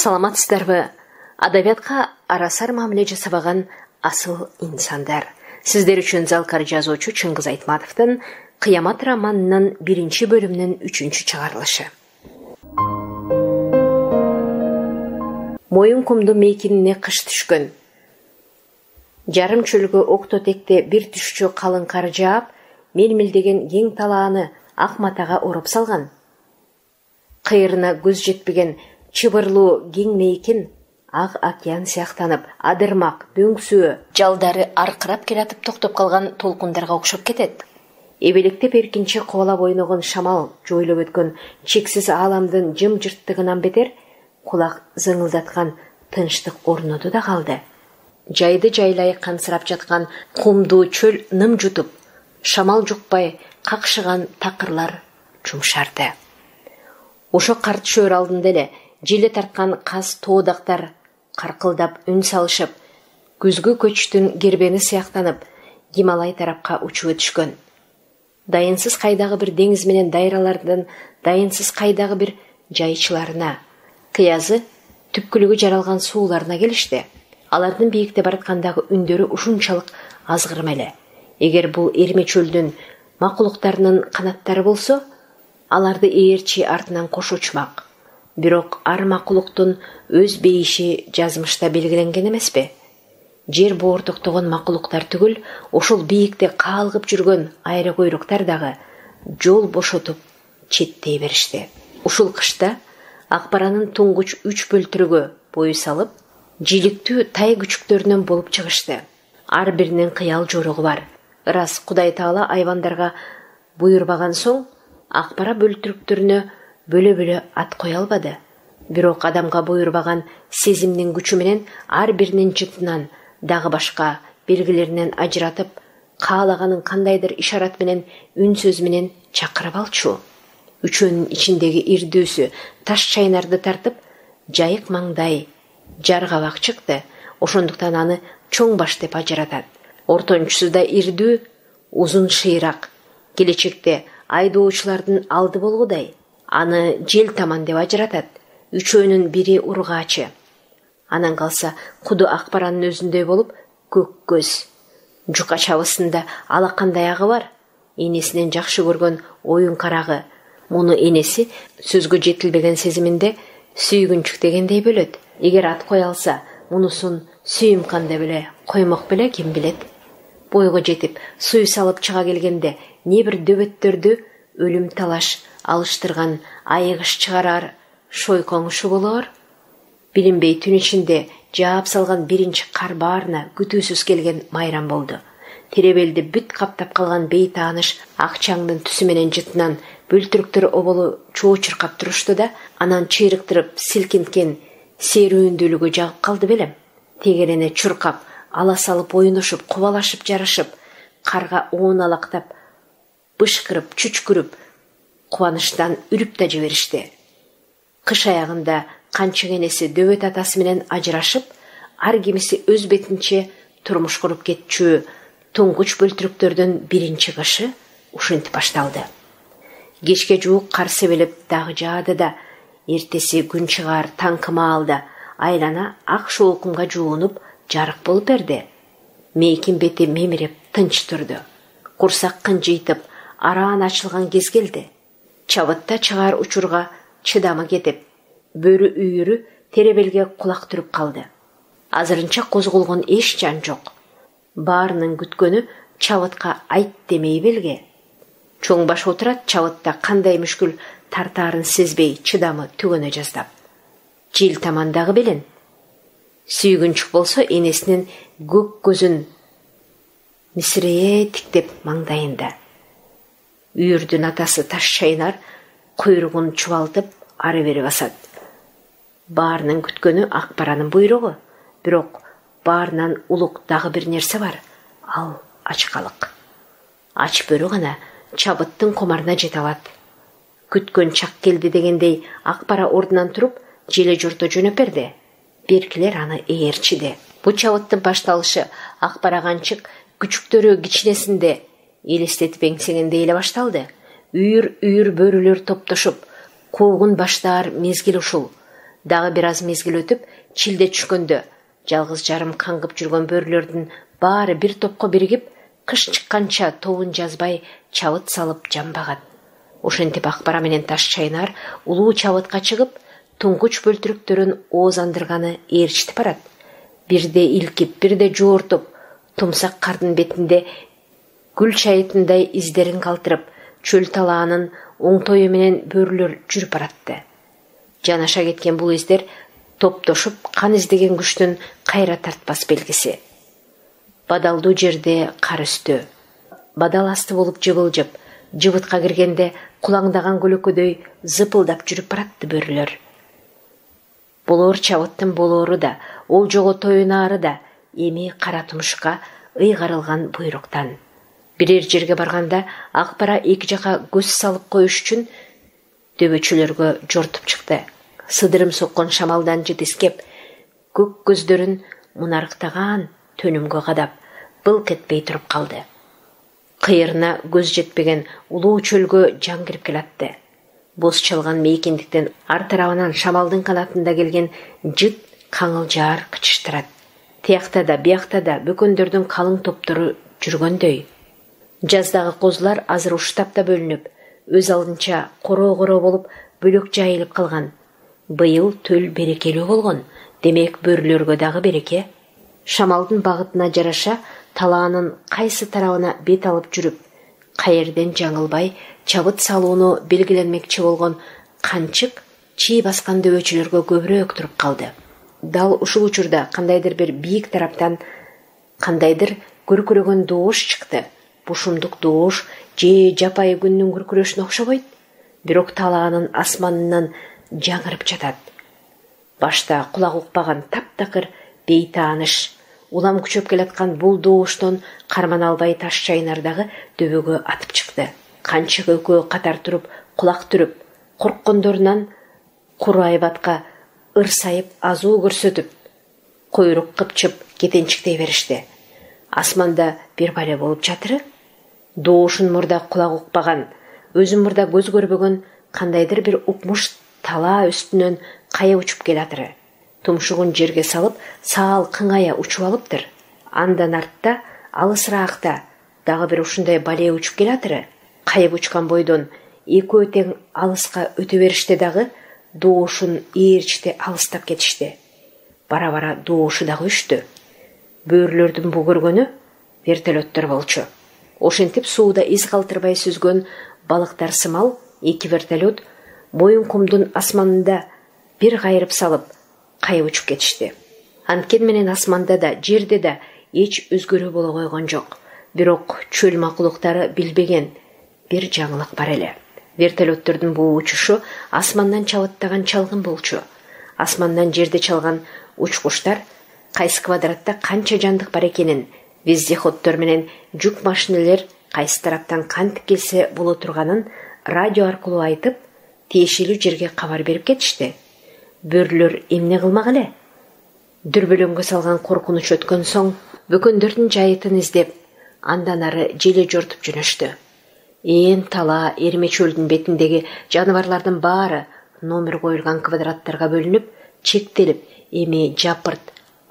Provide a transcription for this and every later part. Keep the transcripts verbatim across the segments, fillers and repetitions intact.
Саламатсыздарбы? Адабиятка арасар мамиле жасабаган асыл инсандар. Сиздер үчүн залкар жазуучу Чыңгыз Айтматовдун Кыямат романынын биринчи бөлүмүнүн үчүнчү чыгарылышы. Моюн кумду мейкинине кыш түшкөн. Жарым чөлгө октотекте бир түшчү калың кар жаап, мелмилдеген кең талааны ак матага уруп салган. Кыйрына көз жетпеген чыбырлуу кең мейкин ак океан сыяктанып, адырмак, дөңсөө, жалдары аркырап келатып токтоп калган толкундарга окшоп кетет. Эбелектеп эркинче кубалап ойногон шамал жойлоп өткөн чексиз ааламдын жым-жырттыгынан бетер кулак зыңылдаткан тынчтык орноду да калды. Жайды жайлай кансырап жаткан кумдуу чөл ным жутуп, шамал жукпай какшыган такырлар жумшарды. Ошо карт шөр алдында эле желе тарткан каз тоодактар каркылдап үн салышып, күзгү көчтүн кербени сыяктанып, Гималай тарапка учуп өтүшкөн. Дайынсыз кайдагы бир деңиз менен дайралардын дайынсыз кайдагы бир жайчыларына, кыязы түпкүлүгү жаралган сууларына келишти. Алардын бийикте бараткандагы үндөрү ушунчалык азгырым эле. Эгер бул эрме чөлдүн макулуктарынын канаттары болсо, аларды ээрчи артынан кош учмак. Бирок ар макулуктун өз бейиши жазмышта белгиленген эмеспи? Жер боортоктогон макулуктар түгүл, ошол бийикте каалгып жүргөн айры койруктар дагы жол бошотуп четтей беришти. Ушул кышта Акбаранын туңгуч үч бөлтүрүгө бою салып, жиликтүү тай күчүктөрүнөн болуп чыгышты. Ар биринин кыял жоругу бар. Ырас Кудай Таала айвандарга буйрбаган соң, Акбара бөлтүрүктөрүнө бөлө-бөлө ат кое албады. Бирок адамга буйрбаган сезимдин күчү менен ар биринин жытынан дагы башка белгилеринен ажыратып, каалаганын кандайдыр ишарат менен үн сөз менен чакырып алчу. Үчөөнүн ичиндеги ирдүүсү таш чайнарды тартып, жайык маңдай жаргабак чыкты. Ошондуктан аны чоң баш деп ажыратат. Ортончусу да ирдүү, узун шыйрак. Келечекте айдоочулардын алды болгудай. Аны жел таман деп ажыратат. Үчөөнүн бири ургаачы. Анан калса куду Акбаранын өзүндөй болуп, көк көз. Жука чабысында алакандай агы бар. Энесинен жакшы көргөн оюн карагы. Муну энеси сөзгө жетилбеген сезиминде сүйгүнчүк дегендей бөлөт. Эгер ат кое алса, мунусун сүйүм кандай беле коймок беле, ким билет. Бойго жетип, суй салып чыга келгенде не бир дөбөттөрдү өлүм талаш алыштырган айыгыш чыгарар шойкоңушу болор. Билинбей түн ичинде жаап салган биринчи кар баарына күтүүсүз келген майрам болду. Теребелди бүт каптап калган бейтааныш акчаңдын түсү менен жытынан бөлтүрүктөр оболу чоо чыркап турушту да, анан чыйрыктырып силкинткен серүүндүүлүгү жагып калды белем. Тегерене чуркап, ала салып оюнушуп, кубалашып жарышып, карга оуналактап, бышкырып, чүчкүрүп, кубанычтан үрүп да жиберишти. Кыш аягында канчык энеси дөбөт атасы менен ажырашып, ар кимиси өз бетинче турмуш куруп кетчү туңгуч бөлтүрүктөрдүн биринчи кышы ушинтип башталды. Кечке жуук кар себелеп дагы жаады да, эртеси күн чыгаар таң кымаалда айлана ак шоокумга жуунуп, жарык болуп берди. Мейкин бети мемиреп тынч турду. Курсак кынжыйтып, араан ачылган кез келди. Чабытта чыгаар учурга чыдамы кетип, бөрү үйүрү теребелге кулак түрүп калды. Азырынча козголгон эч жан жок. Баарынын күткөнү чабытка айт демей белге. Чоң баш отурат чабытта кандай мүшкүл тартаарын сезбей чыдамы түгөнө жаздап. Жел тамандагы белен. Сүйгүнчүк болсо энесинин көк көзүн мисирее тиктеп маңдайында. Үйүрдүн атасы таш чайнар, куйругун чубалтып ары бери басат. Баарынын күткөнү Акбаранын буйругу. Бирок баарынан улук дагы бир нерсе бар. Ал ачкалык. Ач бөрү гана чабыттын комарына жете алат. Күткөн чак келди дегендей Акбара ордунан туруп, желе жорто жөнөп берди. Беркилер аны ээрчиди. Бу чабыттын башталышы Акбара канчык күчүктөрү кичинесинде элестетип эңсегендей эле башталды. Үйүр-үйүр бөрүлөр топтошуп, куугун баштаар мезгил ушул. Дагы бир аз мезгил өтүп, чилде түшкөндө жалгыз жарым каңгып жүргөн бөрүлөрдүн баары бир топко биригип, кыш чыкканча тобун жазбай чабыт салып жамбагат. Ошентип Акбара менен Таш чайнар улуу чабытка чыгып, туңгуч бөлтүрүктөрүн оозандырганы ээрчитип барат. Бирде илкип, бирде жоортуп, тумсак кардын бетинде гүл чайытындай издерин калтырып, чөл талаанын оңтою менен бөрүлөр жүрүп баратты. Жанаша кеткен бул издер топтошуп кан издеген күчтүн кайра тартпас белгиси. Бадалдуу жерде кар өстү. Бадал асты болуп жыбылжып, жыбытка киргенде кулаңдаган көлөкөдөй зыпылдап жүрүп баратты бөрүлөр. Болор чабыттын болору да, ол жого тоюнаары да эми кара тумушка ыйгарылган буйруктан. Бирер жерге барганда Акбара эки жака көз салып коюш үчүн дөбөчөлөргө жортуп чыкты. Сыдырым соккон шамалдан жетискеп, көк көздөрүн мунарыктаган төнүмгө кадап, былк этпей туруп калды. Кыйырына көз жетпеген улуу чөлгө жан кирип келатты. Боз чалган мейкиндиктен ар тарабынан шамалдын канатында келген жыт каңылжаар кычыштырат. Тиякта да, биякта да бөкөндөрдүн калың топтору жүргөндөй. Жаздагы козулар азыр уштап да бөлүнүп, өз алдынча короо-короо болуп бөлөк жайылып калган. Быйыл төл берекелүү болгон, демек бөрүлөргө дагы береке. Шамалдын багытына жараша талаанын кайсы тарабына бет алып жүрүп, каерден жаңылбай чабыт салууну белгиленмекчи болгон канчык чий баскан дөбөчөлөргө көбүрөөк туруп калды. Дал ушул учурда кандайдыр бир бийик тараптан кандайдыр көркүрөгөн доош чыкты. Бушумдук доош же жапайы күндүн күркүрөшүнө окшобойт, бирок талаанын асманынан жаңырып жатат. Башта кулак укпаган таптакыр бейтааныш, улам күчөп келаткан бул дооштон кармана албай Таш чайнардагы дөбөгө атып чыкты. Канчык экөө катар туруп, кулак түрүп, корккондорунан куру айбатка ырсайып азуу көрсөтүп, койрук кыпчып кетенчиктей беришти. Асманда бир бале болуп жатыры? Доошун мурда кулак укпаган, өзүн мурда көз көрбөгөн кандайдыр бир укмуш талаа үстүнөн кая учуп келатыры. Тумшугун жерге салып, саал кыңая учуп алыптыр. Андан артта, алысыраакта дагы бир ушундай бале учуп келатыры. Кайып учкан бойдон экөө тең алыска өтө бериште дагы доошун ээрчите алыстап кетишти. Бара-бара доошу дагы өчтү. Бөрүлөрдүн бу көргөнү вертолеттор болчу. Ошентип сууда из калтырбай сүзгөн балыктар сымал эки вертолет моюн кумдун асманында бир кайрып салып, кайып учуп кетишти. Анткени менен асманда да, жерде да эч өзгөрүү боло койгон жок. Бирок чөл макулуктары билбеген бир жаңылык бар эле. Вертолеттордун бул учушу асмандан чабыттаган чалгын болчу. Асмандан жерде чалган учкуштар кайсы квадратта канча жандык бар экенин, вездеходдор менен жүк машинелер кайсы тараптан кантип келсе боло турганын радио аркылуу айтып, тиешелүү жерге кабар берип кетишти. Бөрүлөр эмне кылмак эле? Дүрбөлөңгө салган коркунуч өткөн соң, бөкөндөрдүн жайытын издеп, андан ары желе жортуп жөнөштү. Ээн талаа Эрме чөлдүн бетиндеги жаныбарлардын баары номер коюлган квадраттарга бөлүнүп, чектелип, эми жапырт,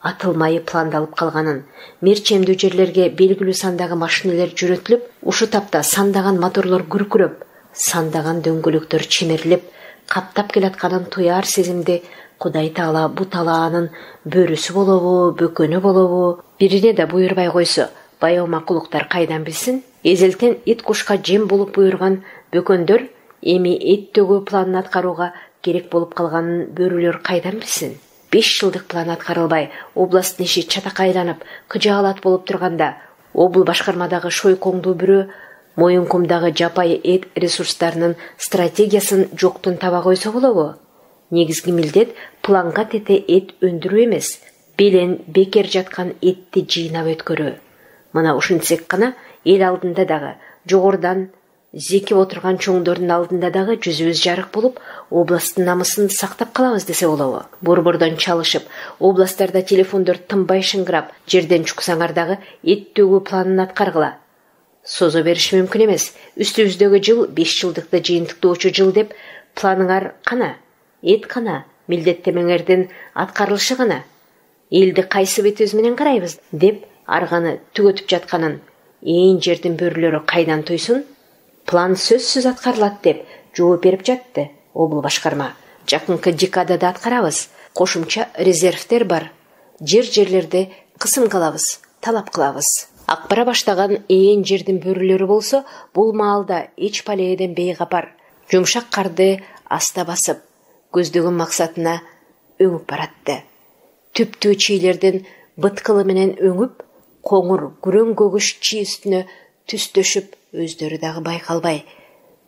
атылмайы пландалып калганын, мерчемдүү жерлерге белгилүү сандагы машинелер жөнөтүлүп, ушу тапта сандаган моторлор күркүрөп, сандаган дөңгөлөктөр чимирилип, каптап келатканын туяр сезимди Кудай Таала бу талаанын бөрүсү болобу, бөкөнү болобу, бирине да буйрбай койсо, баяу макулуктар кайдан билсин? Эзелтен ит кушка жем болуп буйрган бөкөндөр эми эт төгүү планын аткарууга керек болуп калганын бөрүлөр кайдан билсин? Беш жылдык план аткарылбай, областтын иши чатакка айланып, кыжаалат болуп турганда, обул башкармадагы шойкоңдуу бирөө моюнкумдагы жапайы эт ресурстарынын стратегиясын жоктун таба койсо болобу? Негизги милдет планга тете эт өндүрүү эмес, белен бекер жаткан этти жыйнап өткөрүү. Мына ушинтсек гана эл алдында дагы, жогорудан зекип отурган чоңдордун алдында дагы жүзүбүз жарык болуп, областтын намысын сактап калабыз десе болобу. Борбордон чалышып, областтарда телефондор тынбай шыңгырап, жерден чуксаңар дагы эт төгүү планын аткаргыла. Созо бериш мүмкүн эмес. Үстүбүздөгү жыл беш жылдыкты жыйынтыктоочу жыл деп планыңар кана? Эт кана? милдеттемеңердин аткарылышы гана. Элди кайсы бетибиз менен карайбыз деп арганы түгөтүп жатканын ээн жердин бөрүлөрү кайдан туйсун? План сөзсүз аткарылат деп жооп берип жатты обул башкарма. Жакынкы декадада аткарабыз. Кошумча резервтер бар. Жер-жерлерди кысымкалабыз, талап кылабыз. Акбара баштаган ээн жердин бөрүлөрү болсо, бул маалда эч палееден бейгапар. Жумшак карды аста басып, көздөгөн максатына өңүп баратты. Түптүү чийлердин быткылы менен өңүп, коңур күрөң көгүш чий үстүнө түстөшүп, өздөрү дагы байкалбай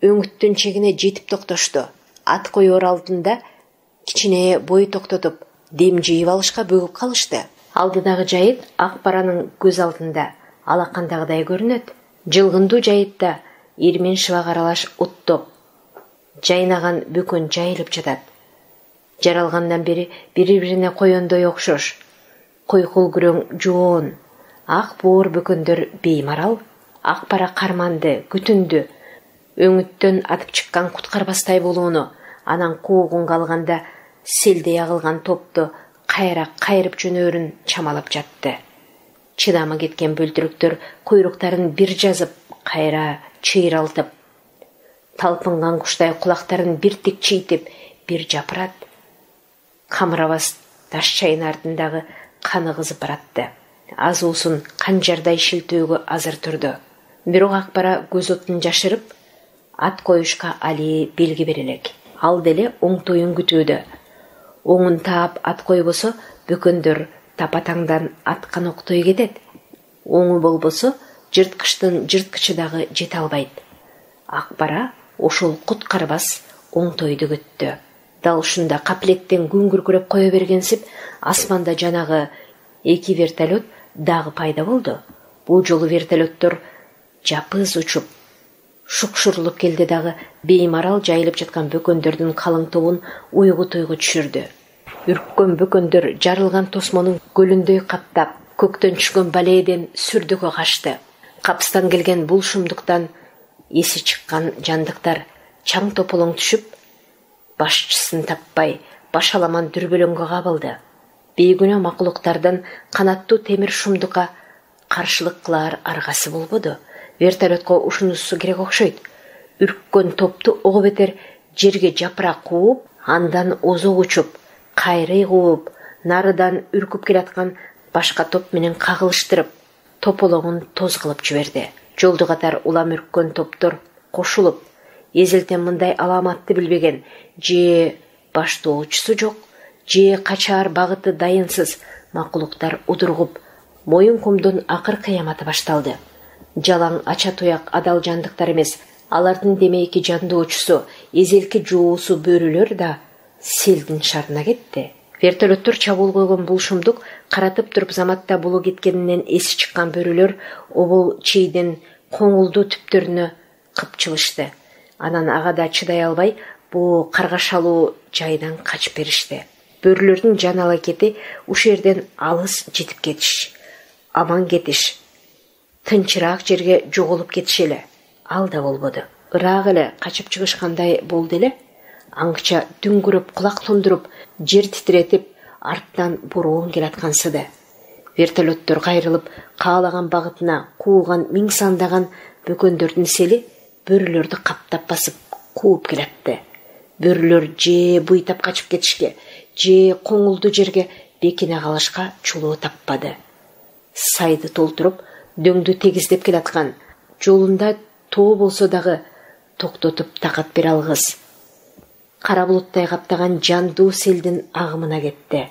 өңүттүн чегине жетип токтошту. Ат коёр алдында кичине бой токтотуп, дем жыйып алышка бөгүп калышты. Алдыдагы жайыт Акбаранын көз алдында алакандагыдай көрүнөт. Жылгындуу жайытта ирмен шыбак аралаш уттоп, жайнаган бөкөн жайылып жатат. Жаралгандан бери бири-бирине коёндой окшош. Койкул күрөң жоон, ак боор бөкөндөр беймарал. Акбара карманды, күтүндү. Өңүттөн атып чыккан куткарбастай болууну, анан куугунга алганда селдей агылган топту кайра кайрып жөнөөрүн чамалап жатты. Чыдамы кеткен бөлтүрүктөр куйруктарын бир жазып, кайра чыйралтып, талпынган куштай кулактарын бир тик чыйтип, бир жапырат. Камырабас таш чайнардын дагы каны кызып баратты. Азуусун канжардай шилтөөгө азыр турду. Бирок Акбара көз отун жашырып, ат коюшка али белги бере элек. Ал деле оңтоюн күтүүдө. Оңун таап ат койбосо, бөкөндөр тапатаңдан аткан октой кетет. Оңу болбосо, жырткычтын жырткычы дагы жете албайт. Акбара ошол куткарбас оңтойду күттү. Дал ушунда каплеттен күн күркүрөп кое бергенсип, асманда жанагы эки вертолет дагы пайда болду. Бул жолу вертолеттор жапыз учуп, шукшурулуп келди дагы беймарал жайылып жаткан бөкөндөрдүн калың тобун уйгу-туйгу түшүрдү. Үрккөн бөкөндөр жарылган тосмонун көлүндөй каптап, көктөн түшкөн балээден сүрдүккө качты. Капыстан келген бул шумдуктан эси чыккан жандыктар чаң тополоң түшүп, башчысын таппай, башаламан дүрбөлөңгө кабылды. Бейгүнөө макулуктардан канаттуу темир шумдукка каршылык кылаар аргасы болбоду. Вертолетко ушунусу керек окшойт. Үрккөн топту ого бетер жерге жапыра кууп, андан озок учуп, кайрый кууп, нарыдан үркүп келаткан башка топ менен кагылыштырып, тополоңун тоз кылып жиберди. Жолду катар улам үрккөн топтор кошулуп, эзелтен мындай аламатты билбеген, же баштоочусу жок, же качаар багыты дайынсыз макулуктар удургуп, моюн кумдун акыр кыяматы башталды. Жалаң ача туяк адал жандыктар эмес, алардын демейки жандоочусу, эзелки жоосу бөрүлөр да селдин шарына кетти. Вертолеттор чабуул койгон бул шумдук каратып туруп заматта булу кеткенинен эси чыккан бөрүлөр обол чийдин коңулдуу түптөрүнө кыпчылышты. Анан ага да чыдай албай, бул каргашалуу жайдан качып беришти. Бөрүлөрдүн жан алакети ушу жерден алыс жетип кетиш, аман кетиш, тынчыраак жерге жоголуп кетиш эле. Ал да болбоду. Ыраак эле качып чыгышкандай болду эле. Аңча дүңгүрөп, кулак тондуруп, жер титиретип, арттан бороон келаткансыды. Вертолеттор кайрылып, каалаган багытына кууган миң сандаган бөкөндөрдүн сели бөрүлөрдү каптап басып кууп келатты. Бөрүлөр же буйтап качып кетишке, же коңулду жерге бекине калышка чулуу таппады. Сайды толтуруп, дөңдү тегиздеп келаткан, жолунда тоо болсо дагы токтотуп такат бере алгыс. Кара булуттай каптаган жандуу селдин агымына кетти.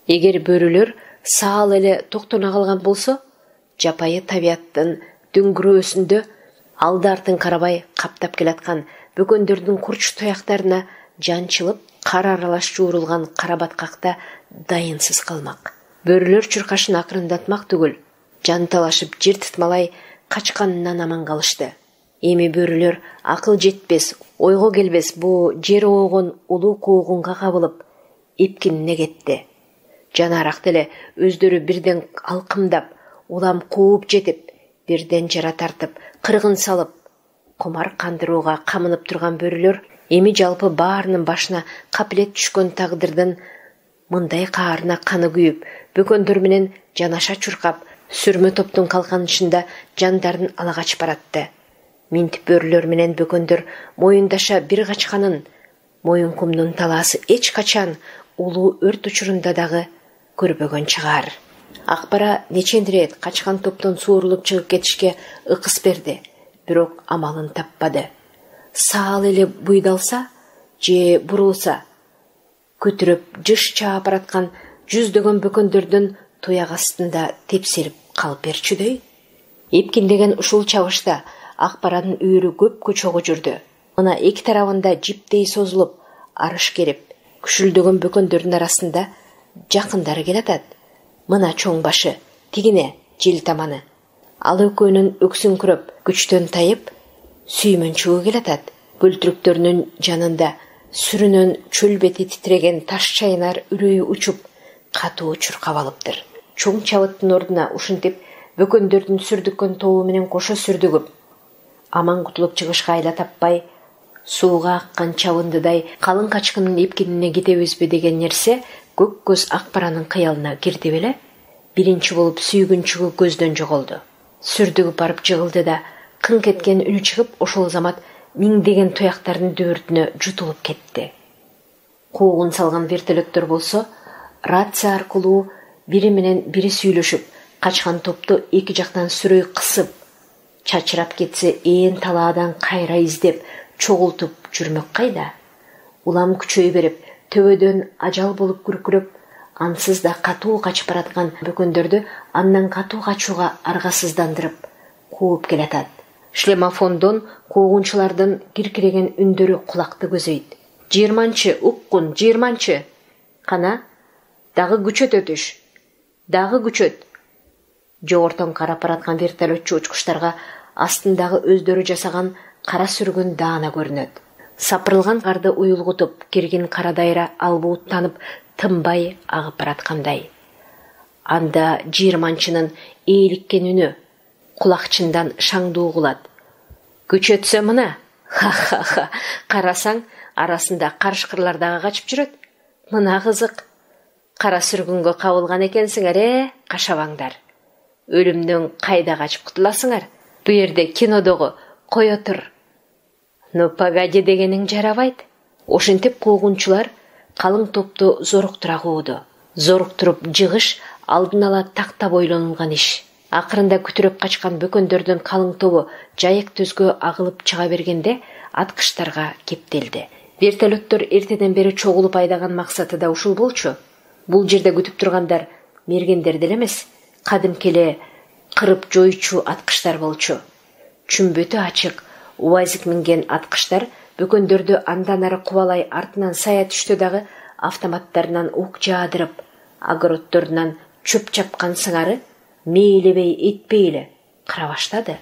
Эгер бөрүлөр саал эле токтоно калган болсо, жапайы табияттын дөңгүрөөсүндө алды артын карабай каптап келаткан бөкөндөрдүн курч туяктарына жанчылып, кар аралаш жуурулган кара баткакта дайынсыз калмак. Бөрүлөр чуркашын акырындатмак түгүл, жанталашып жер тытмалай качканынан аман калышты. Эми бөрүлөр акыл жетпес, ойго келбес бу жер оогон улуу куугунга кабылып, эпкинине кетти. Жанаrak деле өздөрү бирден алкымдап, улам кууп жетип, бирден жара тартып, кыргын салып, комар кандырууга камынып турган бөрүлөр Эми жалпы баарынын башына капилет түшкөн тагдырдын мындай каарына каны күйүп, бөкөндөр менен жанаша чуркап, сүрмө топтун калканычында жандарын ала качып баратты. Минтип бөрүлөр менен бөкөндөр моюндаша бир качканын, Моюнкумдун талаасы эч качан улуу өрт учурунда дагы көрбөгөн чыгар. Акбара нечендир рет качкан топтон суурулуп чыгып кетишке ыкыс берди, бирок амалын таппады. Саал эле буйдалса же бурулса, көтүрүп жыш чаап бараткан жүздөгөн бөкөндөрдүн туяк астында тепселип калып берчүдөй. Эпкиндеген ушул чабышта Акбаранын үйүрү көпкө чогуу жүрдү. Мына эки тарабында жиптей созулуп, арыш керип, күшүлдөгөн бөкөндөрдүн арасында жакындары келатат. Мына чоң башы, тигине жел таманы. Ал экөөнүн өксүңкүрөп, күчтөн тайып, сүймөнчүгү келатат. Бөлтүрүктөрүнүн жанында сүрүнөн чөл бети титреген таш чайнар үрөйү учуп, катуу чуркап алыптыр. Чоң чабыттын ордуна ушинтип бөкөндөрдүн сүрдүккөн тобу менен кошо сүрдүгүп, аман кутулуп чыгышка айла таппай, сууга аккан чабындыдай калың качкындын эпкинине кетебизби деген нерсе көк көз Акбаранын кыялына кирди беле. Биринчи болуп сүйгүнчүгү көздөн жоголду. Сүрдүгүп барып жыгылды да, кыңк эткен үнү чыгып, ошол замат миңдеген туяктардын дүбүртүнө жутулуп кетти. Куугун салган вертолеттор болсо, рация аркылуу бири менен бири сүйлөшүп, качкан топту эки жактан сүрөй кысып, чачырап кетсе ээн талаадан кайра издеп, чогултуп жүрмөк кайда. Улам күчөй берип, төбөдөн ажал болуп күркүрөп, ансыз да катуу качып бараткан бөкөндөрдү андан катуу качууга аргасыздандырып кууп келатат. Шлемофондон куугунчулардын киркиреген үндөрү кулакты көзөйт. Жыйырманчы, уккун, жыйырманчы. Кана, дагы күчөт өтүш. Дагы күчөт. Жогортон карап бараткан вертолетчу учкучтарга астындагы өздөрү жасаган кара сүргүн даана көрүнөт. Сапырылган карды уюлгутуп, киргин кара дайра албууттанып, тынбай агып бараткандай. Анда жыйырманчынын ээликкен үнү кулакчындан шаңдуу угулат. Күчөтсө мына, ха-ха-ха, карасаң, арасында карышкырлар дагы качып жүрөт. Мына кызык. Кара сүргүнгө кабылган экенсиңер, э, кашабаңдар. Өлүмдөн кайда качып кутуласыңар? Бу жерде кинодогу кое тур. Ну погоди дегениң жарабайт. Ошентип куугунчулар калың топту зоруктура кууду. Зоруктуруп жыгыш алдын ала такта бойлонулган иш. Акырында күтүрөп качкан бөкөндөрдүн калың тобу жайык түзгө агылып чыга бергенде аткычтарга кептелди. Вертолеттор эртеден бери чогулуп айдаган максаты да ушул болчу. Бул жерде күтүп тургандар мергендер деле эмес, кадимки эле кырып жоюучу аткычтар болчу. Чүмбөтү ачык, УАЗик минген аткычтар бөкөндөрдү андан ары кубалай артынан сая түштү дагы автоматтарынан ук жаадырып, огороддорунан чөп чапкан сыңары мейлебей этпей эле кыра баштады.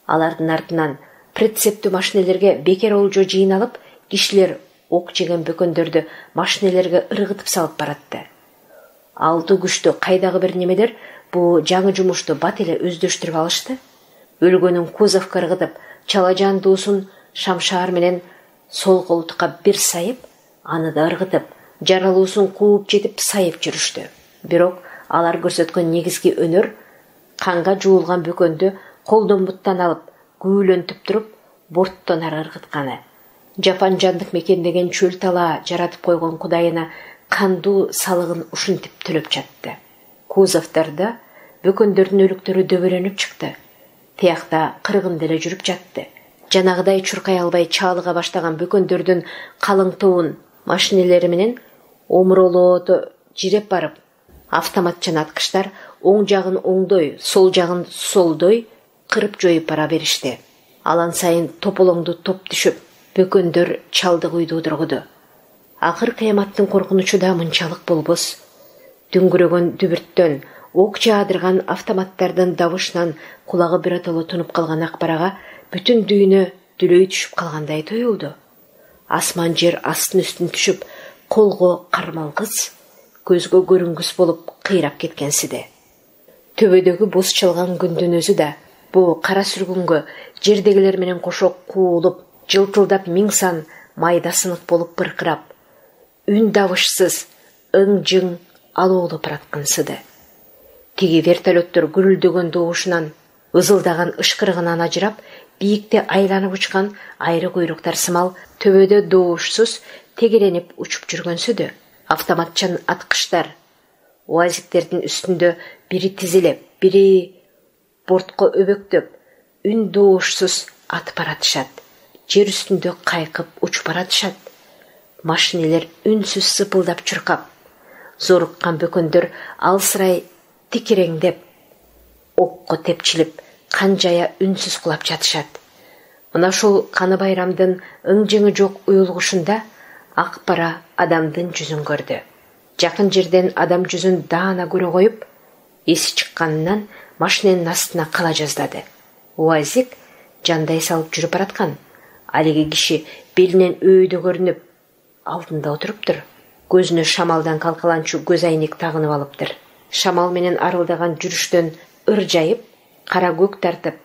Алардын артынан прицептүү машинелерге бекер олжо жыйналып, кишилер ок жеген бөкөндөрдү машинелерге ыргытып салып баратты. Алты күчтүү кайдагы бир немелер бу жаңы жумушту бат эле өздөштүрүп алышты. Өлгөнүн кузовко ыргытып, чала жандуусун шамшаар менен сол колтукка бир сайып, аны да ыргытып, жаралуусун кууп жетип сайып жүрүштү. Бирок алар көрсөткөн негизги өнөр канга жуулган бөкөндү колдон буттан алып, күүлөнтүп туруп, борттон ары ыргытканы. Жапан жандык мекендеген чөл талаа жаратып койгон кудайына кандуу салыгын ушинтип төлөп жатты. Кузовтордо бөкөндөрдүн өлүктөрү дөбөлөнүп чыкты. Тиякта кыргын деле жүрүп жатты. Жанагыдай чуркай албай чаалыга баштаган бөкөндөрдүн калың тобун машинелери менен омуролоото жиреп барып, автомат жана аткычтар оң жагын оңдой, сол жагын солдой кырып жоюп бара беришти. Алан сайын тополоңду топ түшүп, бөкөндөр чалдык уйду дургуду. Акыр кыяматтын коркунучу да мынчалык болбос. Дүңгүрөгөн дүбүрттөн, ок жаадырган автоматтардын дабышынан кулагы биротоло тунуп калган Акбарага бүтүн дүйнө дүлөй түшүп калгандай туюлду. Асман жер астын үстүн түшүп, колго кармалгыс, көзгө көрүнгүс болуп кыйрап кеткенсиде. Төбөдөгү боз чалган күндүн өзү да бу кара сүргүнгө жердегилер менен кошо куулуп, жылтылдап миң сан майда сынык болуп быркырап, үн дабышсыз ың-жың алоолуп бараткансыды. Тиги вертолеттор гүрүлдөгөн добушунан, ызылдаган ышкырыгынан ажырап, бийикте айланып учкан айры куйруктар сымал төбөдө добушсуз тегеренип учуп жүргөнсүдү. Автоматчан аткычтар уазиктердин үстүндө бири тизилеп, бири бортко өбөктөп, үн добушсуз атып баратышат. Жер үстүндө кайкып учуп баратышат. Машинелер үнсүз сыпылдап чуркап, зоруккан бөкөндөр алсырай тикиреңдеп, окко тепчилип, канжая үнсүз кулап жатышат. Мына ушул Каны Байрамдын ың-жыңы жок уюлгушунда ак бара адамдын жүзүн көрдү. Жакын жерден адам жүзүн даана көрө коюп, эси чыкканынан машиненин астына кала жаздады. УАЗик жандай салып жүрүп бараткан. Алиги киши белинен өйдө көрүнүп, алдында отуруптур. Көзүнө шамалдан калкаланчу көз айнек тагынып алыптыр. Шамал менен арылдаган жүрүштөн ыржайып, кара көк тартып,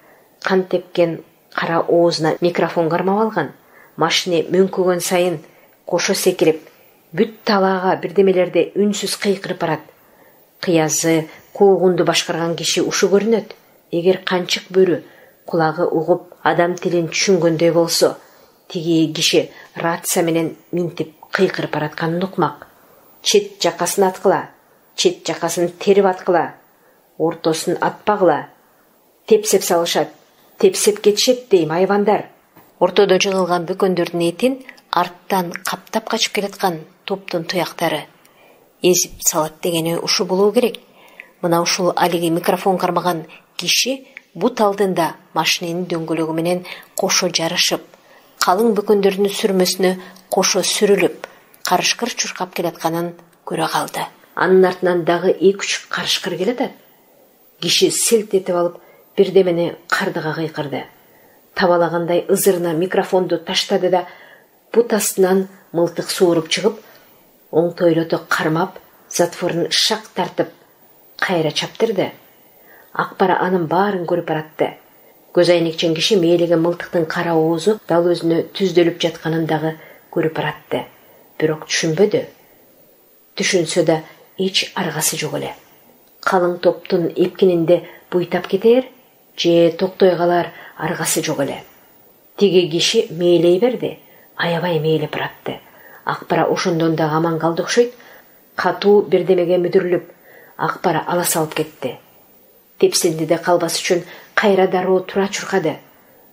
кан тепкен кара оозуна микрофон кармап алган. Машине мөңкөгөн сайын кошо секирип, бүт талаага бирдемелерди үнсүз кыйкырып барат. Кыязы, куугунду башкарган киши ушу көрүнөт. Эгер канчык бөрү кулагы угуп, адам тилин түшүнгөндөй болсо, тиги киши рация менен минтип кыйкырып баратканын укмак. Чет жакасын аткыла, чет жакасын терип аткыла, ортосун атпагыла. Тепсеп салышат, тепсеп кетишет дейм айвандар. Ортодо жыгылган бөкөндөрдүн этин арттан каптап качып келаткан топтун туяктары эзип салат дегени ушу болуу керек. Мына ушул алиги микрофон кармаган киши бут алдында машиненин дөңгөлөгү менен кошо жарышып, калың бөкөндөрдүн сүрмөсүнө кошо сүрүлүп, карышкыр чуркап келатканын көрө калды. Анын артынан дагы эки-үч карышкыр келатат. Киши селт этип алып, бирдемени кардыга кыйкырды. Табалагандай ызырына микрофонду таштады да, бут астынан мылтык сууруп чыгып, оңтойлото кармап, затворун шак тартып, кайра чаптырды. Акбара анын баарын көрүп баратты. Көз айнекчен киши мээлеген мылтыктын кара оозу дал өзүнө түздөлүп жатканын дагы көрүп баратты. Бирок түшүнбөдү. Түшүнсө да эч аргасы жок эле. Калың топтун эпкининде буйтап кетер же токтой калар аргасы жок эле. Тиги киши мээлей берди, аябай мээлеп баратты. Акбара ошондон да аман калды окшойт. Катуу бирдемеге мүдүрүлүп, Акбара ала салып кетти. Тепсиндиде калбас үчүн кайра дароо тура чуркады.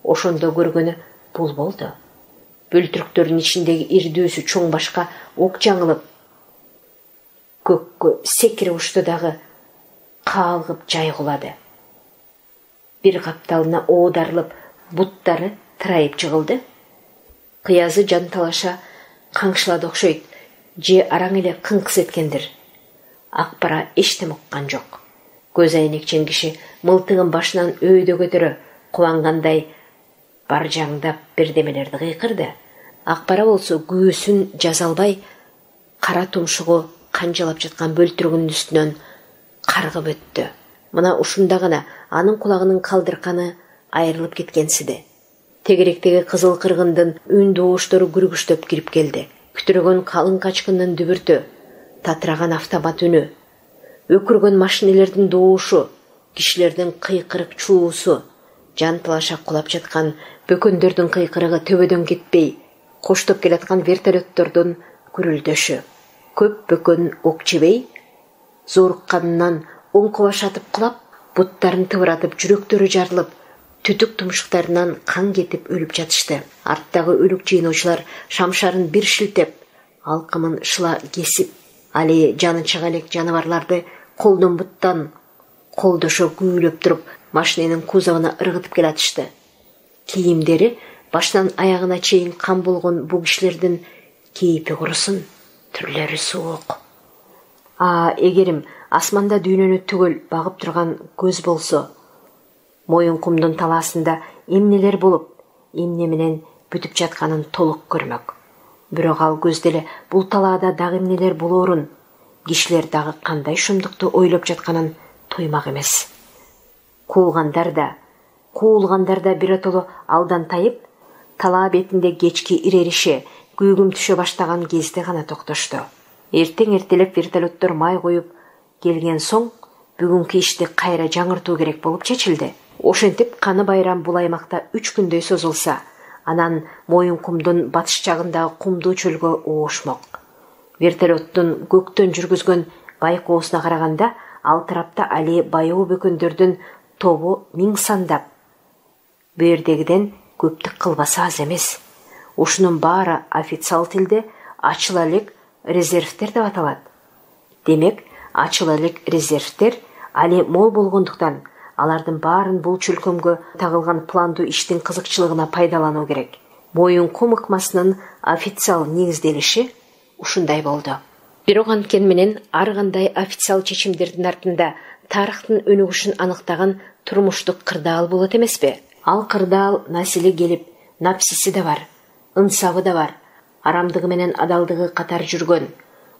Ошондо көргөнү бул болду. Бөлтүрүктөрдүн ичиндеги ирдүүсү чоң башка ок жаңылып, көккө секирип учту дагы каалгып жайгулады. Бир капталына оодарылып, буттары тырайып жыгылды. Кыязы жанталаша каңшылады окшойт, же араң эле кыңкыс эткендир. Акбара эчтеме уккан жок. Көз айнекчен киши мылтыгын башынан өйдө көтөрө, кубангандай баржаңдап бирдемелерди кыйкырды. Акбара болсо күүсүн жаза албай, кара тумшугу канжалап жаткан бөлтүрүгүнүн үстүнөн каргып өттү. Мына ушунда гана анын кулагынын калдырканы айрылып кеткенсиди. Тегеректеги кызыл кыргындын үн дооштору күргүчтөп кирип келди. Күтүрөгөн калың качкындын дүбүртү, татыраган автомат үнү, өкүргөн машинелердин доошу, кишилердин кыйкырык чуусу, жанталаша кулап жаткан бөкөндөрдүн кыйкырыгы төбөдөн кетпей, коштоп келаткан вертолеттордун гүрүлдөшү. Көп бөкөн ок жебей, зорукканынан оңко баш атып кулап, буттарын тыбыратып, жүрөктөрү жарылып, түтүк тумшуктарынан кан кетип өлүп жатышты. Арттагы өлүк жыйноочулар шамшарын бир шилтеп, алкымын шыла кесип, али жаны чыга элек жаныбарларды колдон буттан колдошо күүлөп туруп, машиненин кузовуна ыргытып келатышты. Кийимдери башынан аягына чейин кан болгон бул кишилердин кейпи курусун, түрлөрү суук. А эгерим асманда дүйнөнү түгөл багып турган көз болсо, моюн кумдун талаасында эмнелер болуп, эмне менен бүтүп жатканын толук көрмөк. Бирок ал көз деле бул талаада дагы эмнелер болоорун, кишилер дагы кандай шумдукту ойлоп жатканын тоймак эмес. Куулгандар да, куулгандар да биротоло алдан тайып, талаа бетинде кечки ирерише, күйгүм түшө баштаган кезде гана токтошту. Эртең эртелеп вертолеттор май коюп келген соң бүгүнкү ишти кайра жаңыртуу керек болуп чечилди. Ошентип Каны байрам бул аймакта үч күндөй созулса, анан Моюнкумдун батыш жагындагы кумдуу чөлгө оошмок. Вертолеттун көктөн жүргүзгөн байкоосуна караганда, ал тарапта али баяу бөкөндөрдүн тобу миң сандап. Бу жердегиден көптүк кылбасы аз эмес. Ушунун баары официал тилде ачыл элек резервтер деп аталат. Демек, ачыл элек резервтер али мол болгондуктан, алардын баарын бул чөлкөмгө тагылган пландуу иштин кызыкчылыгына пайдалануу керек. Моюнкум ыкмасынын официал негизделиши ушундай болду. Бирок анткени менен ар кандай официал чечимдердин артында тарыхтын өнүгүшүн аныктаган турмуштук кырдаал болот эмеспи? Ал кырдаал насили келип, напсиси да бар, ынсабы да бар, арамдыгы менен адалдыгы катар жүргөн,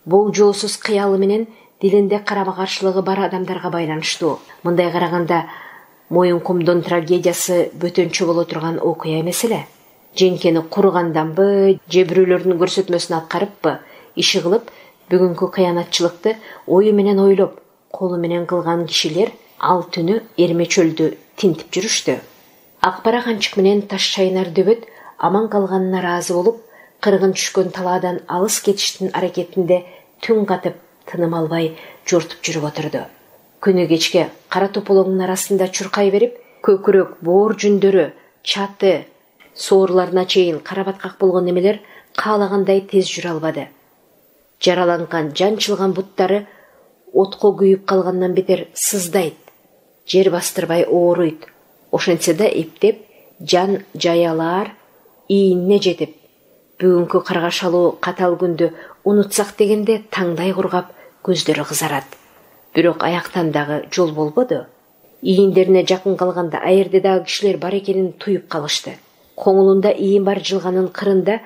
болжоосуз кыялы менен дилинде карама-каршылыгы бар адамдарга байланыштуу. Мындай караганда Моюнкумдун трагедиясы бөтөнчө боло турган окуя эмес эле. Женкени курганданбы, же бирөөлөрдүн көрсөтмөсүн аткарыппы, иши кылып, бүгүнкү кыянатчылыкты ою менен ойлоп, колу менен кылган кишилер ал түнү Эрме чөлдү тинтип жүрүштү. Акбара канчык менен Таш чайнар дөбөт аман калганына ыраазы болуп, кыргын түшкөн талаадан алыс кетиштин аракетинде түн катып, тыным албай жортуп жүрүп отурду. Күнү кечке кара тополоңдун арасында чуркай берип, көкүрөк, боор жүндөрү, чаты, соорларына чейин карабаткак болгон немелер каалагандай тез жүрө албады. Жараланган, жанчылган буттары отко күйүп калгандан бетер сыздайт, жер бастырбай ооруйт. Ошентсе да эптеп, жан жаялар ийине жетип, бүгүнкү каргашалуу катал күндү унутсак дегенде таңдай кургап, көздөрү кызарат. Бирок аяктан дагы жол болбоду. Ийиндерине жакын калганда аерде дагы кишилер бар экенин туюп калышты. Коңулунда ийин бар жылганын кырында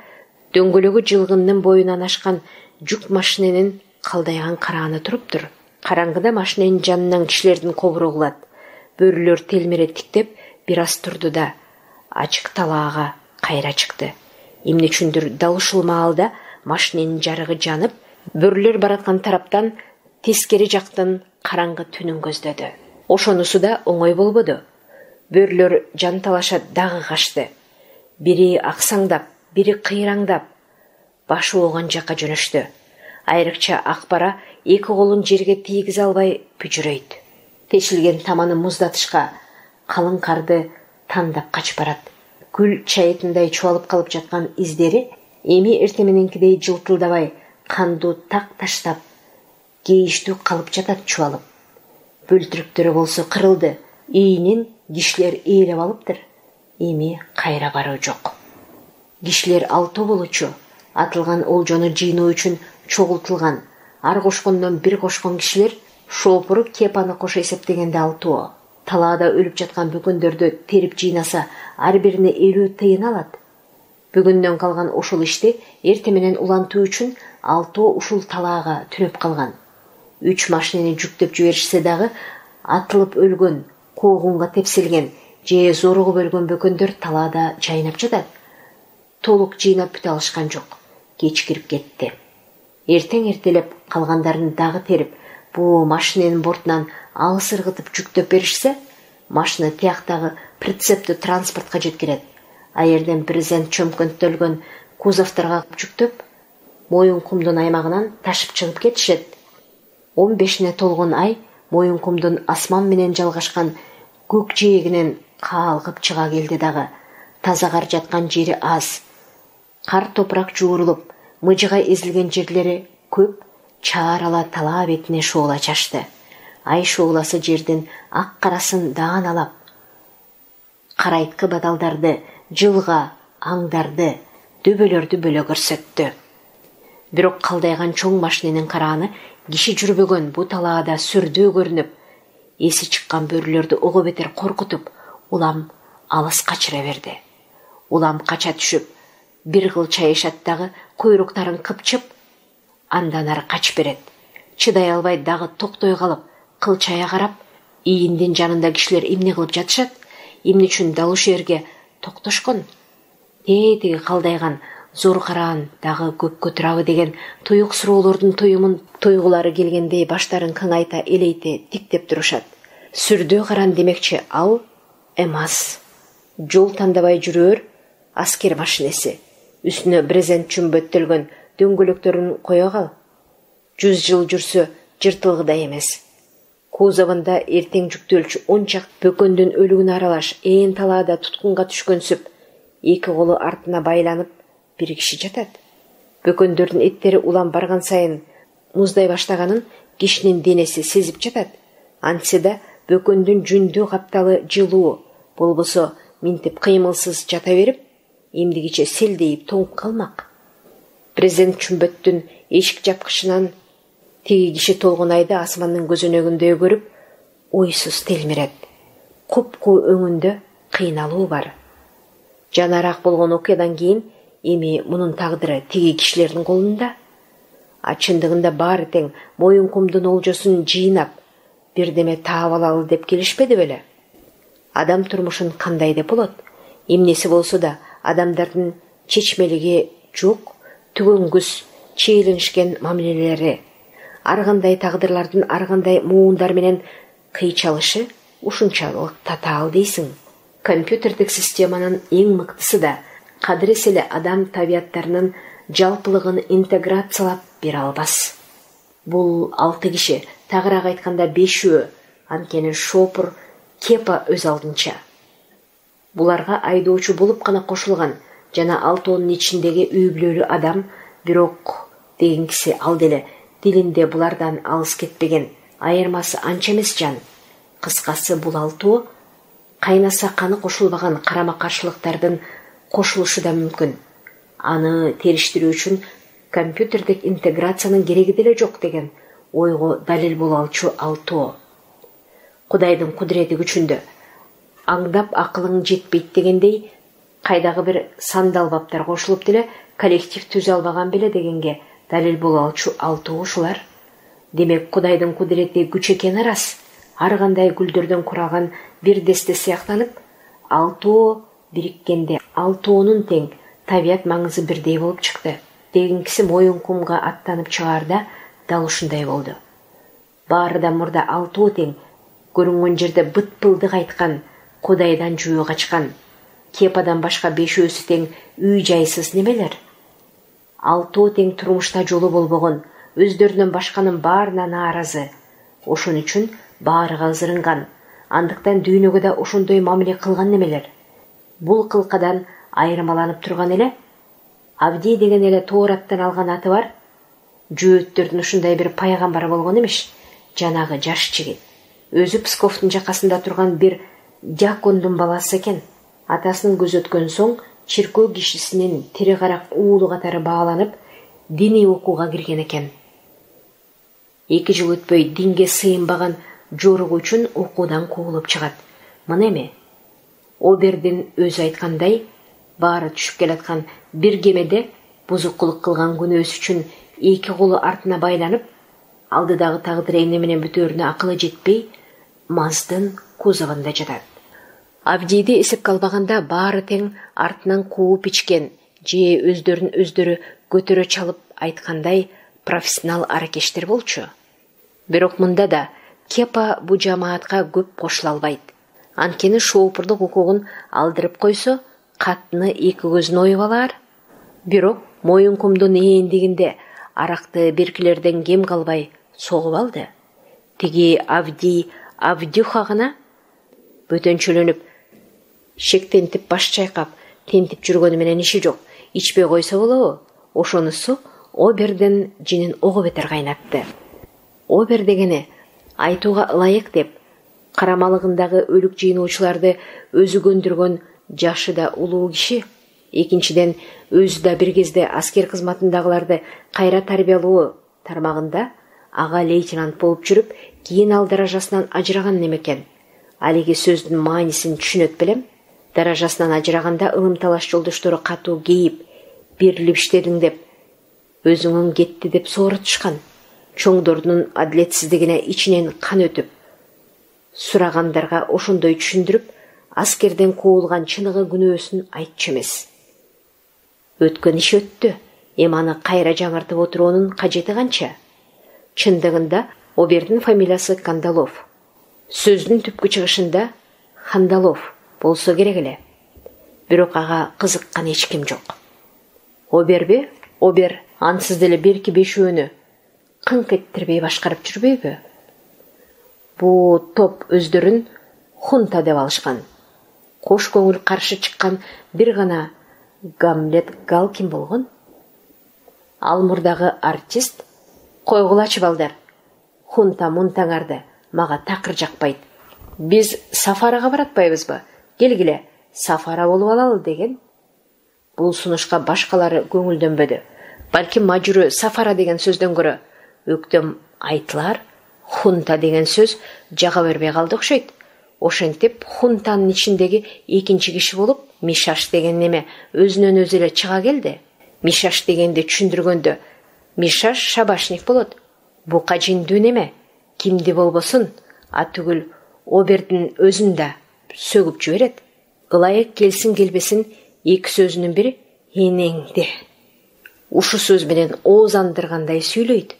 дөңгөлөгү жылгындын боюнан ашкан жүк машиненин калдайган карааны туруптур. Караңгыда машиненин жанынан кишилердин кобуру угулат. Бөрүлөр телмере тиктеп бир аз турду да ачык талаага кайра чыкты. Эмне үчүндүр дал ушул маалда машиненин жарыгы жанып, бөрүлөр бараткан тараптан тескери жактын караңгы түнүн көздөдү. Ошонусу да оңой болбоду. Бөрүлөр жан талаша дагы качты. Бири аксаңдап, бири кыйраңдап, башы ооган жакка жөнөштү. Айрыкча Акбара эки колун жерге тийгизе албай бүжүрөйт. Тешилген таманы муздатышка, калың карды тандап качып барат. Гүл чайытындай чуалып калып жаткан издери эми эрте мененкидей жылтылдабай, кандуу так таштап, кейиштүү калып жатат чуалып. Бөлтүрүктөрү болсо кырылды, ийинин кишилер ээлеп алыптыр. Эми кайра баруу жок. Кишилер алтоо болчу, атылган олжону жыйноо үчүн чогултулган. Ар кошкондон бир кошкон кишилер шоопуру кепаны кошо эсептегенде алтоо. Талаада өлүп жаткан бөкөндөрдү терип жыйнаса, ар бирине элүү тыйын алат. Бүгүндөн калган ушул ишти эрте менен улантуу үчүн алтоо ушул талаага түнөп калган. Үч машинени жүктөп жиберишсе дагы атылып өлгөн, коогунга тепселген же зоругуп өлгөн бөкөндөр талаада жайнап жатат. Толук жыйнап бүтө алышкан жок. Кеч кирип кетти. Эртең эртелеп калгандарын дагы терип, бу машиненин бортунан алыс ыргытып жүктөп беришсе, машина тияктагы прицептүү транспортко жеткирет. Аерден президент чөмкөнтөлгөн кузовторго жүктөп, Моюнкумдун аймагынан ташып чыгып кетишет. он бешине толгон ай Моюнкумдун асман менен жалгашкан көк жээгинен каалгып чыга келди дагы. Таза кар жаткан жери аз. Кар топурак жуурулуп, мыжыгай эзилген жерлери көп, чаарала талаа бетине шоола чачты. Ай шооласы жердин ак карасын дааналап, карайткы бадалдарды, жылга, аңдарды, дөбөлөрдү бөлө көрсөттү. Бирок калдайган чоң машиненин карааны киши жүрбөгөн бу талаада сүрдүү көрүнүп, эси чыккан бөрүлөрдү ого бетер коркутуп, улам алыс качыра берди. Улам кача түшүп, бир кыл чайышат дагы койруктарын кыпчып, андан ары качып берет. Чыдай албай дагы токтой калып, кылчая карап, ийиндин жанында кишилер эмне кылып жатышат, эмне үчүн дал ушул жерге токтошкон? Тетиги калдайган зор караан дагы көпкө турабы деген туюк суроолордун туюмун тойгулары келгендей баштарын кыңайта элейте тиктеп турушат. Сүрдөө каран демекчи ал эмас. Жол тандабай жүрөр аскер машинеси. Үстүнө брезент чүмбөттөлгөн дөңгөлөктөрүн кое кал. Жүз жыл жүрсө жыртылгыдай эмес. Кузовунда эртең жүктөлчү он чак бөкөндүн өлүгүн аралаш ээн талаада туткунга түшкөнсүп, эки колу артына байланып бир киши жатат. Бөкөндөрдүн эттери улам барган сайын муздай баштаганын кишинин денеси сезип жатат. Антсе да бөкөндүн жүндүү капталы жылуу, болбосо минтип кыймылсыз жата берип, эмдигиче селдейип тоңуп калмак. Брезент чүмбөттүн эшик жапкычынан тиги киши толгунайды асмандын көзөнөгүндөй көрүп, ойсуз телмирет. Купку өңүндө кыйналуу бар. Жанараак болгон окуядан кийин эми мунун тагдыры тиги кишилердин колунда. А чындыгында баары тең моюнкумдун олжосун жыйнап, бирдеме таап алалы деп келишпеди беле? Адам турмушун кандай деп болот? Эмнеси болсо да адамдардын чечмелиги жок, түгөнгүс, чийлинишкен мамилелери, ар кандай тагдырлардын ар кандай муундар менен кыйчалышы ушунчалык татаал дейсиң. Компьютердик системанын эң мыктысы да кадырес эле адам табияттарынын жалпылыгын интеграциялап бере албас. Бул алты киши, тагыраак айтканда бешөө, анткени шопур Кепа өз алдынча. Буларга айдоочу болуп гана кошулган жана алтоонун ичиндеги үй бүлөлүү адам, бирок деген киши ал деле дилинде булардан алыс кетпеген, айырмасы анча эмес жан. Кыскасы бул алтоо кайнаса каны кошулбаган карама-каршылыктардын кошулушу да мүмкүн. Аны териштирүү үчүн компьютердик интеграциянын кереги деле жок деген ойго далил боло алчу алтоо. Кудайдын кудурети күчүндө аңдап акылың жетпейт дегендей, кайдагы бир сандалбаптар кошулуп деле коллектив түзө албаган беле дегенге далил боло алчу алтоо ушулар. Демек Кудайдын кудурети күч экени рас. Ар кандай гүлдөрдөн куралган бир десте сыяктанып, алтоо бириккенде алтоонун тең табият маңызы бирдей болуп чыкты. Деген киши моюнкумга аттанып чыгаарда дал ушундай болду. Баарыдан мурда алтоо тең көрүнгөн жерде быт-пылдык айткан, Кудайдан жөө качкан, Кепадан башка бешөөсү тең үй жайсыз немелер. Алтоо тең турмушта жолу болбогон, өздөрүнөн башканын баарына нааразы. Ошон үчүн баарыга ызырынган, андыктан дүйнөгө да ошондой мамиле кылган немелер. Бул кылкадан айырмаланып турган эле Авдий деген эле Тоораттан алган аты бар. Жөөттөрдүн ушундай бир пайгамбары болгон эмиш, жанагы жаш жигит. Өзү Псковдун жакасында турган бир дьякондун баласы экен. Атасынын көзү өткөн соң чиркөө кишисинин тири карак уулу катары бааланып, диний окууга кирген экен. Эки жыл өтпөй динге сыйынбаган жоругу үчүн окуудан куулуп чыгат. Мына эми Обердин өзү айткандай, баары түшүп келаткан бир кемеде бузукулук кылган күнөөсү үчүн эки колу артына байланып, алдыдагы тагдыр эмне менен бүтөөрүнө акылы жетпей, Маздын кузовунда жатат. Авдийди эсепке албаганда баары тең артынан кууп ичкен, же өздөрүн өздөрү көтөрө чалып айткандай профессионал аракештер болчу. Бирок мында да Кепа бу жамаатка көп кошула албайт. Анткени шоопурлук укугун алдырып койсо, катны эки көзүн оюп алар. Бирок моюнкумдун ээндигинде аракты беркилерден кем калбай согуп алды. Тиги Авдий Авдюха гана бөтөнчөлөнүп, шектентип баш чайкап, тентип жүргөнү менен иши жок. Ичпей койсо болобу? Ошонусу Обердин жинин ого бетер кайнатты. Обер дегени айтууга ылайык деп, карамалыгындагы өлүк жыйноочуларды өзү көндүргөн жашы да улуу киши. Экинчиден, өзү да бир кезде аскер кызматындагыларды кайра тарбиялоо тармагында ага лейтенант болуп жүрүп, кийин ал даражасынан ажыраган немекен. Алиги сөздүн маанисин түшүнөт белем. Даражасынан ажыраганда ылым-талаш жолдоштору катуу кейип, берилип иштедиң деп, өзүңөн кетти деп сооротушкан. Чоңдордун адилетсиздигине ичинен кан өтүп, сурагандарга ошондой түшүндүрүп, аскерден куулган чыныгы күнөөсүн айтчу эмес. Өткөн иш өттү. Эми аны кайра жаңыртып отуруунун кажети канча? Чындыгында Обердин фамилиясы Кандалов. Сөздүн түпкү чыгышында Хандалов болсо керек эле. Бирок ага кызыккан эч ким жок. Оберби? Обер ансыз деле берки бешөөнү кыңк эттирбей башкарып жүрбөйбү? Бу топ өздөрүн хунта деп алышкан. Кош көңүл каршы чыккан бир гана Гамлет Галкин болгон. Ал мурдагы артист койгулачы балдар. Хунта мунтаңарды мага такыр жакпайт. Биз сафарага баратпайбызбы? Келгиле, сафара болуп алалы деген. Бул сунушка башкалары көңүлдөнбөдү. Балким мажуру сафара деген сөздөн көрө өктөм айтылар хунта деген сөз жага бербей калды окшойт. Ошентип хунтанын ичиндеги экинчи киши болуп Мишаш деген неме өзүнөн өзү эле чыга келди. Мишаш дегенди түшүндүргөндө Мишаш шабашник болот. Бука жиндүү неме кимди болбосун атүгүл Обердин өзүн да сөгүп жиберет. Ылайык келсин келбесин эки сөзүнүн бири энеңди. Ушу сөз менен ооз андыргандай сүйлөйт.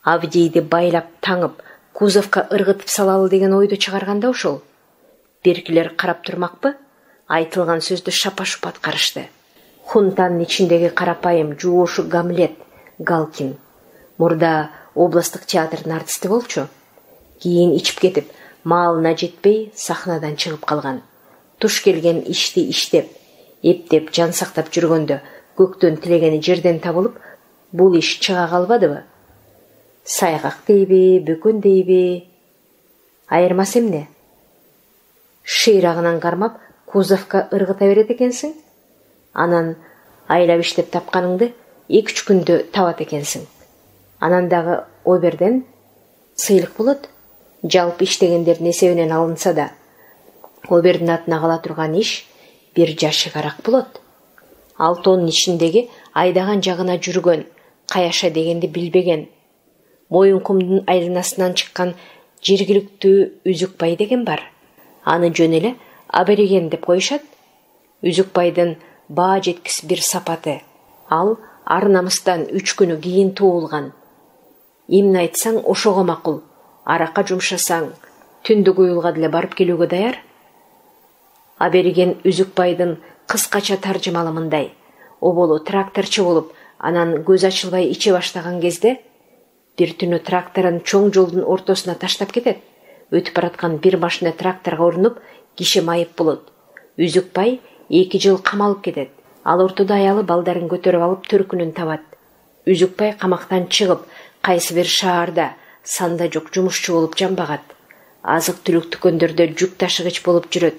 Авдийди байлап таңып кузовка ыргытып салалы деген ойду чыгарганда ошол. Беркилер карап турмакпы? Айтылган сөздү шапа-шупа аткарышты. Хунтанын ичиндеги карапайым жуошу Гамлет Галкин мурда областтык театрдын артисти болчу. Кийин ичип кетип, маалына жетпей сахнадан чыгып калган. Туш келген ишти иштеп, эптеп жан сактап жүргөндө көктөн тилегени жерден табылып, бул иш чыга калбадыбы? Сайгак дейби, бөкөн дейби? Айырмасы эмне? Шыйрагынан кармап кузовка ыргыта берет экенсиң. Анан айлап иштеп тапканыңды эки үч күндө табат экенсиң. Анан дагы Оберден сыйлык болот. Жалпы иштегендердин эсебинен алынса да, Обердин атына кала турган иш бир жашыгараак болот. Алтоонун ичиндеги айдаган жагына жүргөн, каяша дегенди билбеген, Моюнкумдун айланасынан чыккан жергиликтүү Үзүкбай деген бар. Аны жөн эле абориген деп коюшат. Үзүкбайдын баа жеткис бир сапаты. Ал ар намыстан үч күнү кийин туулган. Эмне айтсаң ошого макул. Аракка жумшасаң, түндүк уюлга деле барып келүүгө даяр. Абориген Үзүкбайдын кыскача таржымалы мындай: оболу тракторчу болуп, анан көз ачылбай иче баштаган кезде бир түнү тракторун чоң жолдун ортосуна таштап кетет. Өтүп бараткан бир машина тракторго урунуп, киши майып болот. Үзүкбай эки жыл камалып кетет. Ал ортодо аялы балдарын көтөрүп алып төркүнүн табат. Үзүкбай камактан чыгып, кайсы бир шаарда санда жок жумушчу болуп жамбагат. Азык түлүк дүкөндөрдө жүк ташыгыч болуп жүрөт.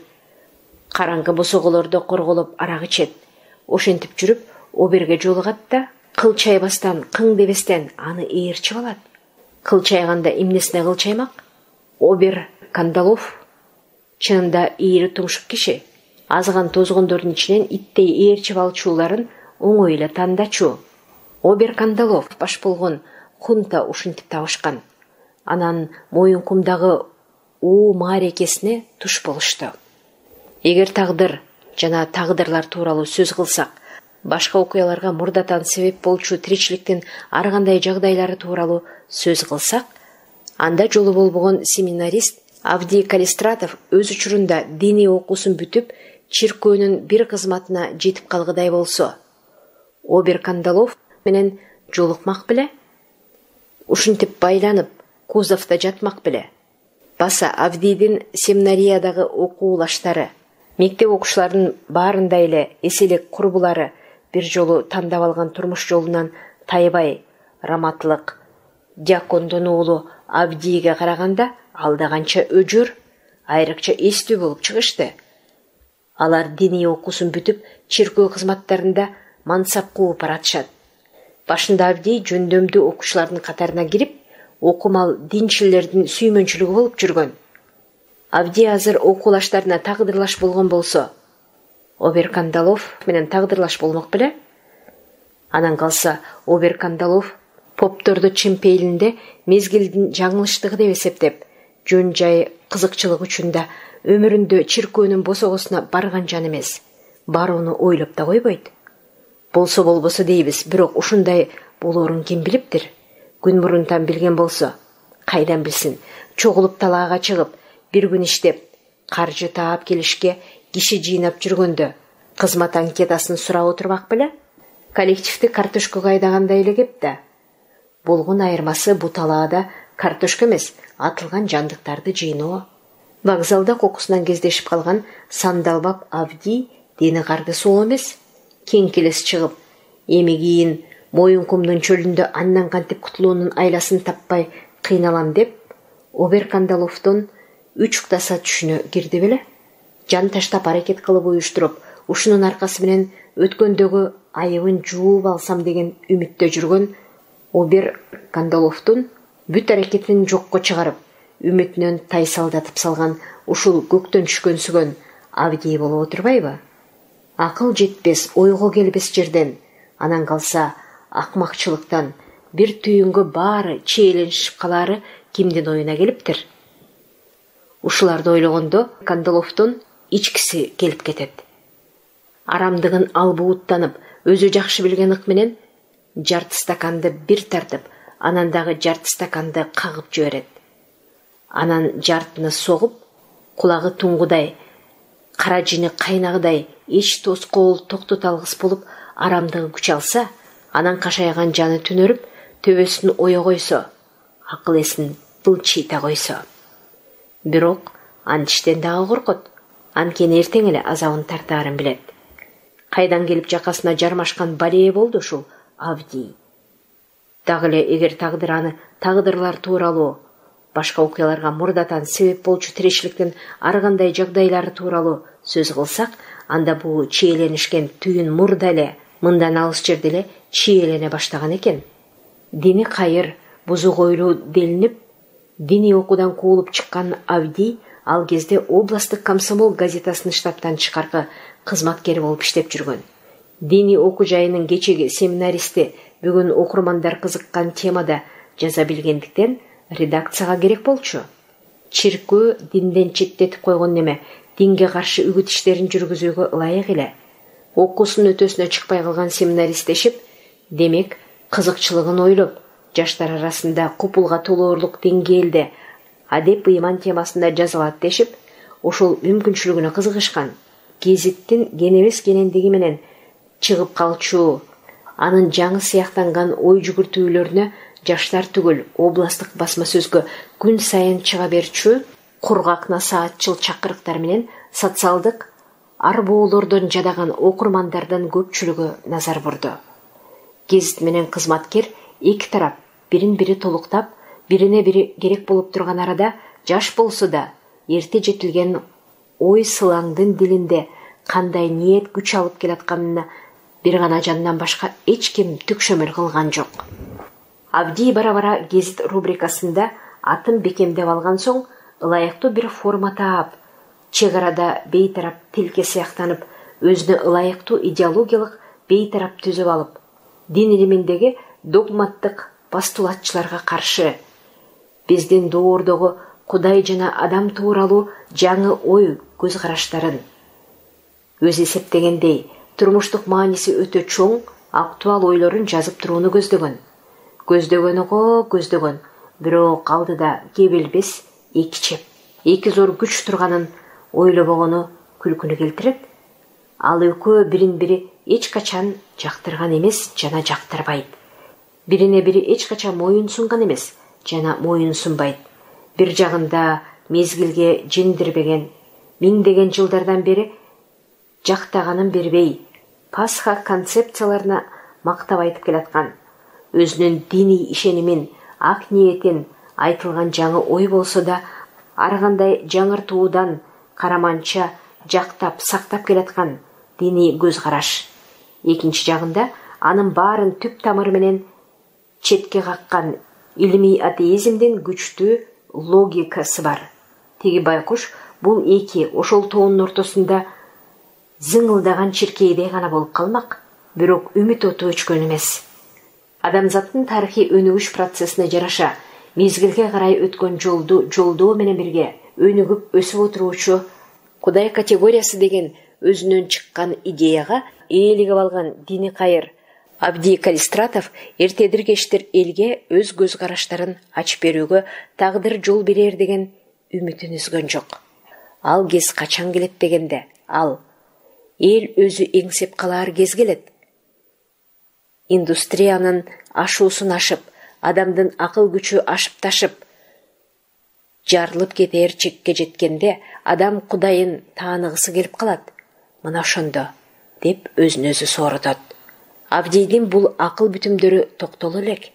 Караңгы босоголордо корголоп арак ичет. Ошентип жүрүп Оберге жолугат да, кылчайбастан, кың дебестен аны ээрчип алат. Кылчайганда эмнесине кылчаймак? Обер Кандалов чынында ийри тумшук киши. Азган тозгондордун ичинен иттей ээрчип алчуларын оңой эле тандачу. Обер Кандалов баш болгон хунта ушинтип табышкан. Анан Моюнкумдагы уу маарекесине туш болушту. Эгер тагдыр жана тагдырлар тууралуу сөз кылсак, башка окуяларга мурдатан себеп болчу тиричиликтин ар кандай жагдайлары тууралуу сөз кылсак, анда жолу болбогон семинарист Авдий Калистратов өз учурунда диний окуусун бүтүп, чиркөөнүн бир кызматына жетип калгыдай болсо, Обер Кандалов менен жолукмак беле? Ушинтип байланып, кузовдо жатмак беле? Баса Авдийдин семинариядагы окуулаштары, мектеп окуучуларынын баарында эле эселик курбулары бир жолу тандап алган турмуш жолунан тайбай, раматлык, дьякондун уулу Авдийге караганда алда канча өжөр, айрыкча эстүү болуп чыгышты. Алар диний окуусун бүтүп, чиркөө кызматтарында мансап кууп баратышат. Башында Авдий жөндөмдүү окуучулардын катарына кирип, окумал динчилердин сүймөнчүлүгү болуп жүргөн. Авдий азыр окуулаштарына тагдырлаш болгон болсо, Обер Кандалов менен тагдырлаш болмок беле? Анан калса, Обер Кандалов попторду чемпейлинде мезгилдин жаңылыштыгы деп эсептеп, жөн жай кызыкчылык үчүн да өмүрүндө чиркөөнүн босогосуна барган жан эмес, барууну ойлоп да койбойт. Болсо болбосо дейбиз, бирок ушундай болоорун ким билиптир? Күн мурунтан билген болсо, кайдан билсин? Чогулуп талаага чыгып, бир күн иштеп, каржы таап келишке киши жыйнап жүргөндө кызмат анкетасын сурап отурмак беле? Коллективди картошкага айдагандай эле кеп да. Болгон айырмасы бу талаада картошка эмес, атылган жандыктарды жыйноо. Вокзалда кокусунан кездешип калган сандалбап Авди дени карды суу эмес. Кең келес чыгып, эми кийин Моюнкумдун чөлүндө андан кантип кутулуунун айласын таппай кыйналам деп, Обер Кандаловдон үч уктаса түшүнө кирди беле? Жан таштап аракет кылып уюштуруп, ушунун аркасы менен өткөндөгү айыбын жууп алсам деген үмүттө жүргөн Обер Кандаловдун бүт аракетин жокко чыгарып, үмүтүнөн тайсалдатып салган ушул көктөн түшкөнсүгөн Авди болуп отурбайбы? Акыл жетпес, ойго келбес жерден, анан калса акмакчылыктан бир түйүнгө баары чиеленишип калаары кимдин оюна келиптир? Ушуларды ойлогондо Кандаловдун ичкиси келип кетет. Арамдыгын албууттанып, өзү жакшы билген ык менен жарты стаканды бир тартып, анан дагы жарты стаканды кагып жиберет. Анан жартыны согуп, кулагы туңгудай, кара жини кайнагыдай эч тоскоол токтото алгыс болуп арамдыгы күч алса, анан кашайган жаны түнөрүп, төбөсүн ое койсо, акыл эсин былчыйта койсо. Бирок антиштен дагы коркот. Анткени эртең эле азабын тартаарын билет. Кайдан келип жакасына жармашкан балее болду ушул Авди. Дагы эле эгер тагдыр аны тагдырлар тууралуу, башка окуяларга мурдатан себеп болчу тирешиликтин ар кандай жагдайлары тууралуу сөз кылсак, анда бул чиеленишкен түйүн мурда эле мындан алыс жерде эле чиелене баштаган экен. Дини кайыр, бузук ойлуу делинип, диний окуудан куулуп чыккан Авди ал кезде областтык комсомол газетасынын штабтан тышкаркы кызматкери болуп иштеп жүргөн. Диний окуу жайынын кечеги семинаристи бүгүн окурмандар кызыккан темада жаза билгендиктен редакцияга керек болчу. Чиркөө динден четтетип койгон неме динге каршы үгүт иштерин жүргүзүүгө ылайык эле. Окуусунун өтөсүнө чыкпай калган семинаристешип, демек кызыкчылыгын ойлоп, жаштар арасында купулга толоорлук деңгээлде адеп ыйман темасында жазылат дешип, ошол мүмкүнчүлүгүнө кызыгышкан. Гезиттин кенебес кенендиги менен чыгып калчу, анын жаңы сыяктанган ой жүгүртүүлөрүнө жаштар түгүл областтык басма сөзгө күн сайын чыга берчү кургак насаатчыл чакырыктар менен социалдык арбоолордон жадаган окурмандардын көпчүлүгү назар бурду. Гезит менен кызматкер эки тарап бирин-бири толуктап, бирине-бири керек болуп турган арада жаш болсо да эрте жетилген ой сылаңдын дилинде кандай ниет күч алып келатканына бир гана жандан башка эч ким түкшөмөл кылган жок. Авди бара-бара гезит рубрикасында атын бекемдеп алган соң, ылайыктуу бир форма таап, чек арада бейтарап тилке сыяктанып, өзүнө ылайыктуу идеологиялык бейтарап түзүп алып, дин илиминдеги догматтык постулатчыларга каршы биздин доордогу Кудай жана адам тууралуу жаңы ой көз караштарын, өз эсептегендей турмуштук мааниси өтө чоң, актуал ойлорун жазып турууну көздөгөн. Көздөгөнү го көздөгөн, бирок алдыда кебелбес эки чеп, эки зор күч турганын ойлобогону күлкүнү келтирет. Ал экөө бирин-бири эч качан жактырган эмес жана жактырбайт. Бирине-бири эч качан моюн сунган эмес жана моюн сунбайт. Бир жагында мезгилге жеңдирбеген, миңдеген жылдардан бери жактаганын бербей, Пасха концепцияларына мактап айтып келаткан, өзүнүн диний ишенимин, ак ниетин, айтылган жаңы ой болсо да, ар кандай жаңыртуудан караманча жактап сактап келаткан диний көз караш. Экинчи жагында анын баарын түп тамыры менен четке каккан илимий атеизмдин күчтүү логикасы бар. Теги байкуш бул эки ошол тоонун ортосунда зыңылдаган чиркейдей гана болуп калмак, бирок үмүт оту өчкөн эмес. Адамзаттын тарыхый өнүгүш процессине жараша мезгилге карай өткөн жолду жолдоо менен бирге өнүгүп өсүп отуруучу Кудай категориясы деген өзүнөн чыккан идеяга ээлигип алган дини кайыр Абдий Калистратов эртедир кечтир элге өз көз караштарын ачып берүүгө тагдыр жол берер деген үмүтүн үзгөн жок. Ал кез качан келет дегенде, ал эл өзү эңсеп калар кез келет. Индустриянын ашуусун ашып, адамдын акыл күчү ашып ташып, жарылып кетер чекке жеткенде адам Кудайын тааныгысы келип калат. Мына ошондо, деп өзүн өзү сооротот. Абдийдин бул акыл бүтүмдөрү токтоло элек.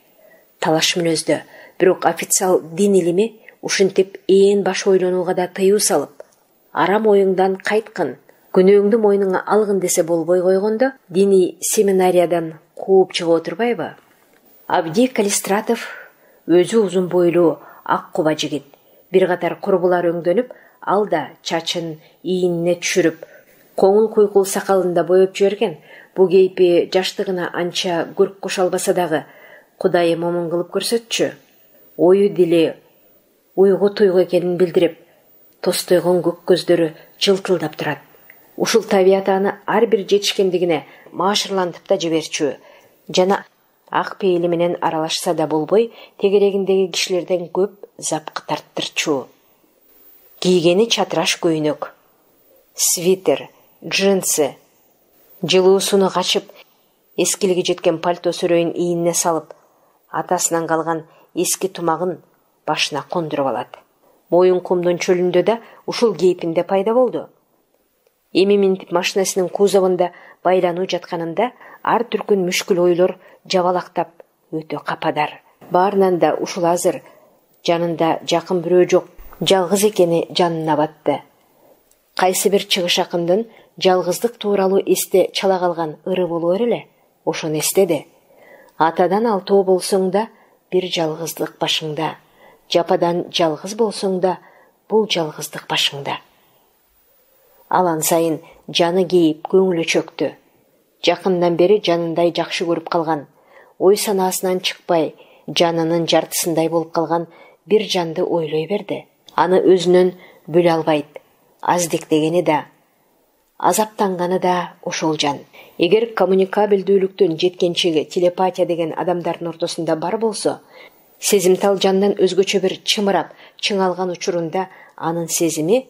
Талаш мүнөздө, бирок официал дин илими ушинтип ээн баш ойлонууга да тыюу салып, арам оюңдан кайткын, күнөөңдү мойнуңа алгын десе болбой койгондо, диний семинариядан кууп чыгып отурбайбы? Абдий Калистратов өзү узун бойлуу, ак куба жигит. Бир катар курбулар өңдөнүп, ал да чачын ийинине түшүрүп, коңул куйкул сакалын да боеп жиберген. Бу кейпи жаштыгына анча көрк кошо албаса дагы, Кудайы момун кылып көрсөтчү. Ою дили уйгу туйгу экенин билдирип, тостойгон көк көздөрү жылтылдап турат. Ушул табияты аны ар бир жетишкендигине маашырлантып да жиберчү. Жана ак пейили менен аралашса да болбой, тегерегиндеги кишилерден көп запкы тарттырчу. Кийгени чатыраш көйнөк, свитер, джинсы, жылуусуну качып, эскилиги жеткен пальто сөрөйүн ийинине салып, атасынан калган эски тумагын башына кондуруп алат. Моюн кумдун чөлүндө да ушул кейпинде пайда болду. Эми минтип машинасынын кузовунда байлануу жатканында ар түркүн мүшкүл ойлор жабалактап, өтө кападар. Баарынан да ушул азыр жанында жакын бирөө жок, жалгыз экени жанына батты. Кайсы бир чыгыш акындын жалгыздык тууралуу эсте чала калган ыры болор эле, ошону эстеди. Атадан алтоо болсоң да, бир жалгыздык башыңда. Жападан жалгыз болсоң да, бул жалгыздык башыңда. Алан сайын жаны кейип, көңүлү чөктү. Жакындан бери жанындай жакшы көрүп калган, ой санаасынан чыкпай, жанынын жартысындай болуп калган бир жанды ойлой берди. Аны өзүнөн бөлө албайт. Аздик дегени да, азаптанганы да ошол жан. Эгер коммуникабелдүүлүктүн жеткенчеги телепатия деген адамдардын ортосунда бар болсо, сезимтал жандан өзгөчө бир чымырап, чыңалган учурунда анын сезими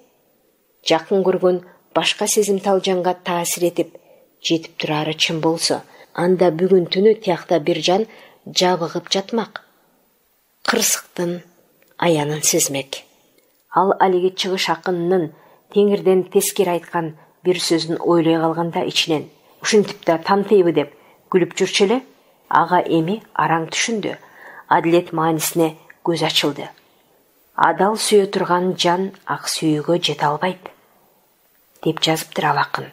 жакын көргөн башка сезимтал жанга таасир этип, жетип турары чын болсо, анда бүгүн түнү тиякта бир жан жабыгып жатмак. Кырсыктын аянын сезмек. Ал алиги чыгыш акынынын теңирден тескери айткан бир сөзүн ойлой калганда ичинен, ушинтип да тантыйбы деп күлүп жүрчү эле, ага эми араң түшүндү. Адилет маанисине көз ачылды. Адал сүйө турган жан ак сүйүүгө жете албайт, деп жазыптыр ал акын.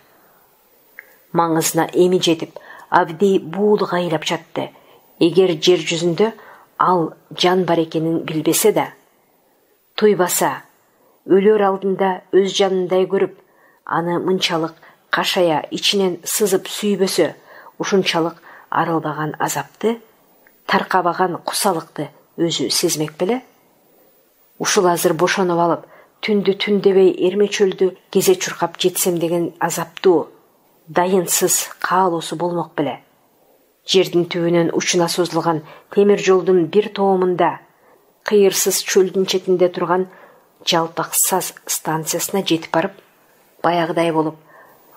Маңызына эми жетип, Абдий буулук айлап жатты. Эгер жер жүзүндө ал жан бар экенин билбесе да, туйбаса, өлөр алдында өз жанындай көрүп, аны мынчалык кашая ичинен сызып сүйбөсө, ушунчалык арылбаган азапты, таркабаган кусалыкты өзү сезмек беле? Ушул азыр бошонуп алып, түндү түн дебей эрме чөлдү кезе чуркап жетсем деген азаптуу, дайынсыз каалоосу болмок беле? Жердин түбүнөн учуна созулган темир жолдун бир тоомунда, кыйырсыз чөлдүн четинде турган жалпак саз станциясына жетип барып, баягыдай болуп,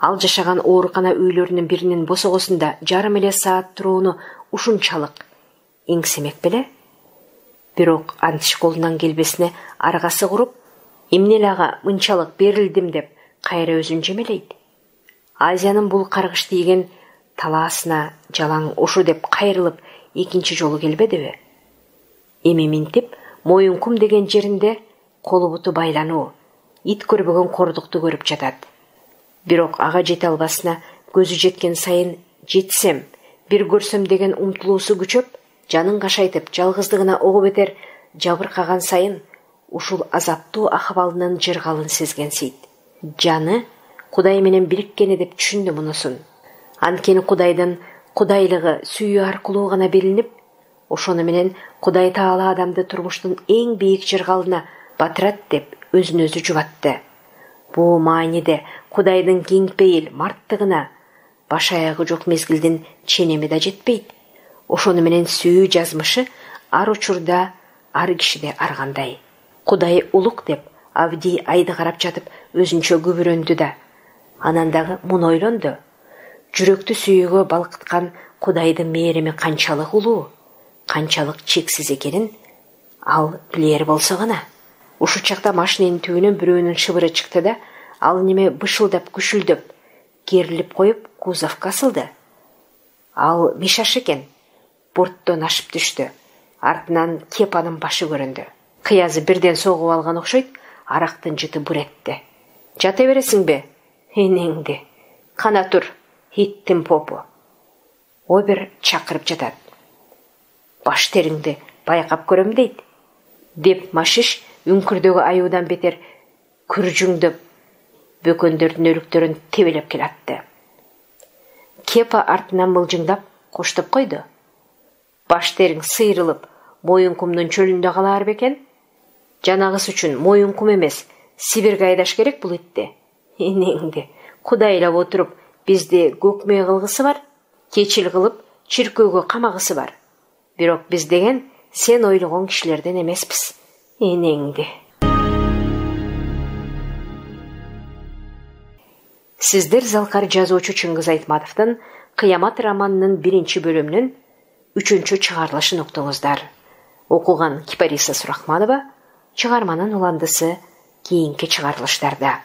ал жашаган оорукана үйлөрүнүн биринин босогосунда жарым эле саат турууну ушунчалык эңсемек беле? Бирок антиш колунан келбесине аргасы куруп, эмне эле ага мынчалык берилдим деп кайра өзүн жемелейт. Азиянын бул каргыш тийген талаасына жалаң ошу деп кайрылып экинчи жолу келбедиби? Эми минтип, Моюнкум деген жеринде колу буту байлануу, ит көрбөгөн кордукту көрүп жатат. Бирок ага жете албасына көзү жеткен сайын жетсем, бир көрсөм деген умтулуусу күчөп, жанын кашайтып, жалгыздыгына ого бетер жабыркаган сайын ушул азаптуу акыбалынын жыргалын сезгенсийт. Жаны Кудай менен бириккени деп түшүндү мунусун. Анткени Кудайдын кудайлыгы сүйүү аркылуу гана берилип, ошону менен Кудай Таала адамды турмуштун эң бийик жыргалына батырат деп өзүн өзү жубатты. Бул мааниде Кудайдын кеңпейил, марттыгына, баш аягы жок мезгилдин ченеми да жетпейт. Ошону менен сүйүү жазмышы ар учурда ар кишиде аргандай. Кудай улук деп Авди айды карап жатып өзүнчө күбүрөндү да. Анан дагы муну ойлонду. Жүрөктү сүйүүгө балкыткан Кудайдын мээрими канчалык улуу, канчалык чексиз экенин ал билер болсо гана. Ушул чакта машиненин түбүнөн бирөөнүн шыбыры чыкты да, ал неме бышылдап күшүлдөп, керилип коюп кузовко асылды. Ал Мишаш экен. Борттон ашып түштү. Артынан Кепанын башы көрүндү. Кыязы бирден согуп алган окшойт, арактын жыты буретти. Жата бересиңби? Энеңди. Кана тур, иттин попу. Обер чакырып жатат. Баш териңди байкап көрөм дейт. Деп Машиш үңкүрдөгү аюудан бетер күржүңдөп, бөкөндөрдүн өрүктөрүн тебелеп келатты. Кепа артынан мылжыңдап коштоп койду. Баш териң сыйрылып, Моюнкумдун чөлүндө калаар бекен? Жанагыс үчүн Моюнкум эмес, Сибирге айдаш керек бул итти. Энеңди, Кудайлап отуруп, бизди көкмө кылгысы бар, кечил кылып, чиркөөгө камагысы бар. Бирок биз деген сен ойлогон кишилерден эмеспиз. Энеңди. Сиздер залкар жазуучу Чыңгыз Айтматовдун Кыямат романынын биринчи бөлүмүнүн үчүнчү чыгарылышын уктуңуздар. Окуган Кипариса Сурахманова, чыгарманын уландысы кийинки чыгарылыштарда.